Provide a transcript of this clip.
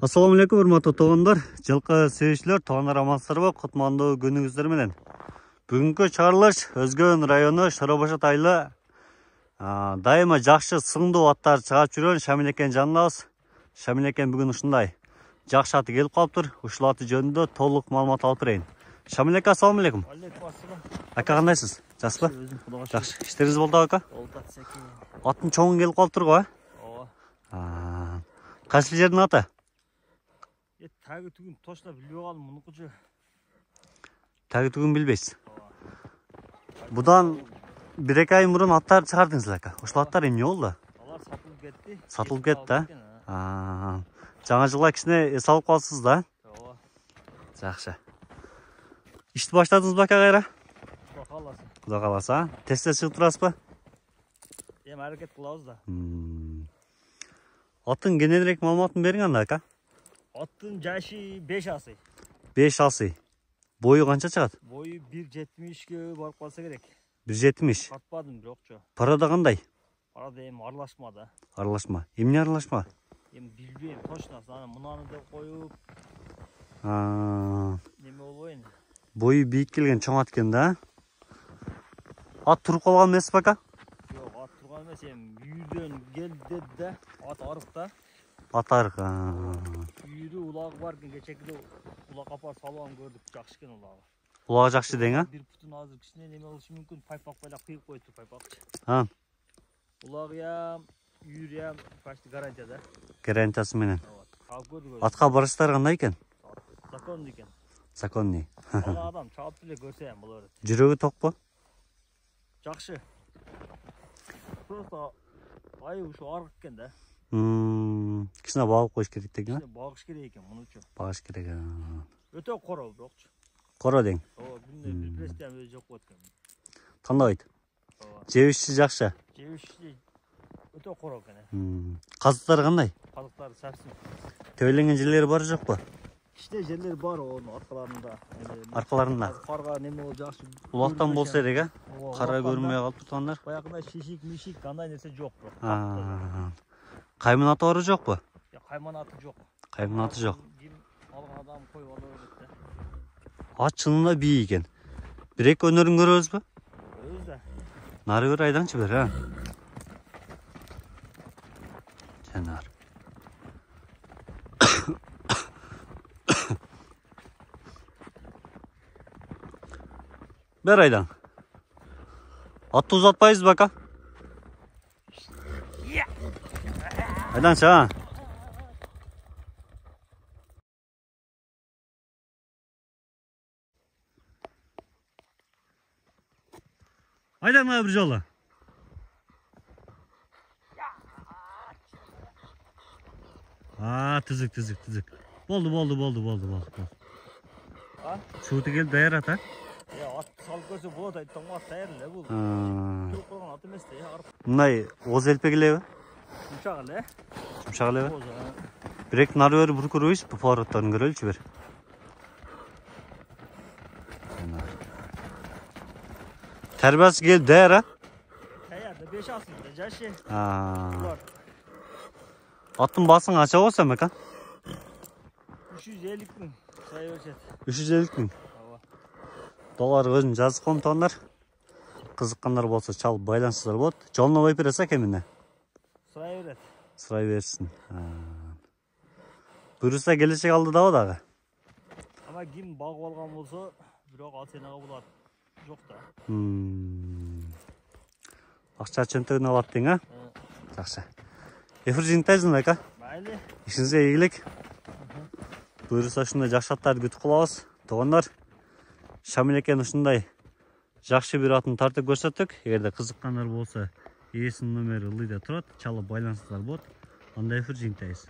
Assalamu alaikum, урматтуу туугандар, жылкы сүйүүчүлөр, туугандар амансыздарбы? Кутмандуу күнүңүздөр менен. Бүгүнкү чыгарылыш Өзгөн району Шоробашат айылы дайыма жакшы сыңдуу аттар чыгап жүргөн Шамил экен жаныбыз. Шамил экен бүгүн ушундай жакшы аты келип калыптыр. Ушул аты жөнүндө толук маалымат алып берейин. Шамил эке, ассаламу алейкум. Алейкум ассалам. Ака, кандайсыз? Жакшыбы? Жакшы. Иштериңиз болду ака? Болду секен. Аттын чоңу келип калыптыр го, Ооба. Кайсы жердин аты? Таги түгүн точно билбей калдым мунукучу. Таги түгүн билбейсиз. Будан 1-2 ай мурун аттар чыгардыңыз ака. Ошол аттар эмне болду? Алар сатылып кетти. Сатылып кетти, Жаңы жылга кичине эс алып калсыз да? Ооба. Жакшы. Ишти баштадыңызбы ака кайра? Кудай кааласа. Кудай кааласа, тестте чыгып турасызбы? Эми аракет кылабыз да. Аттын кененирээк маалыматын бериң анда ака. Аттын жашы 5 асый. 5 асый. Бою канча чыгат? Бою 1.70ке барып калса керек. 1.70. Катпадым бирокчу. Парада кандай? Парада эми аралашма да. Аралашма. Эмне аралашма? Эми билбейм точно. Аны мунаны деп коюп, неме болбойн. Бою бийик келген чоң ат экен да? Ат туруп калган эмеспи ака? Жок, ат турган эмес, эми үйүрдөн келди деди да. Ат арык да. Ат арык. Үйүрү улагы бар экен, кечекиде улак апар салып көрдүк, жакшы экен улагы. Улагы жакшы дең, Бир бутун азыр кичине неме болушу мүмкүн, пайпак байлап кыйып коюпту, пайпакчы. Улагы үйүрү почти гарантия да. Гарантиясы менен. Алып көрдүк. Атка барыштар кандай экен? Законный экен. Законный. Ана адам чалып эле көрсө эми боло берет. Жүрөгү токпу? Жакшы. Просто айы ушу арык экен да. Кичине багып коюш керек деген. Кичине багыш керек экен мунучу. Багыш керек. Өтө коро бирокчу. Коро дең. Ооба, күндө бир престиям өзү жок болот экен. Тандабайт. Ооба. Жебиши жакшы. Жебиши өтө коро экен. Казыктары кандай? Казыктары сапсын. Төбөлөнгөн жерлери бар жокпу? Кичине жерлер бар онун аркаларында. Аркаларында. Карга неме болуп жакшы. Улактан болсо керек, кара көрүнбөй калыптыр туугандар. Баягындай шишик, мишик андай нерсе жок. Кайман аты бар жокпу? Кайман аты жок. Кайман аты жок. Ким алган адам коюп ала берет да. Ат чынында бий экен. 1-2 өнөрүн көрөбүзбү? Өзү да. Нары бир айдаңчы бер, Жанар. Бер айдан. Атты узатпайбызбы ака? Айданчы, Айдан бир жолу. Түзүк. Болду. Шууту келип даяр ата. Ат салып көрсө болот, айттым ат даяр эле бул. Туруп койгон ат эмес да, арып. Мындай оз элпек элеби? Жумшак эле. Жумшак элеби? Бирек нары бери буруп көрбөйсүз, бу повороттарын көрөлүчү бир. Тербиясы келип даяр, Даярда 5 асында жашы. Аттын баасын канча болсо эми ака? 350 000 сай беришет. 350 000. Доллар өзүн жазып коем туугандар. Кызыккандар болсо чалып байланышсыздар болот. Жолуна коюп бересиз ака эмне? Сурай берет. Сурай берсин. Буюрса келечек алдыдабы дагы? Ама ким багып алган болсо, бирок ал сенага булат жок да. Акча чөнтөгүнө алат дең, Жакшы. Эфир жыйынтайсың ака? Майли. Ишиңизге ийгилик. Буюрса ушундай жакшы аттарды күтүп калабыз. Туугандар, Шамил экен ушундай жакшы бир атын тартып көрсөттүк. Эгерде кызыккандар болсо, ээсинин номери ылдыйда турат, чалып байланышсыздар болот. Анда эфир жыйынтайбыз.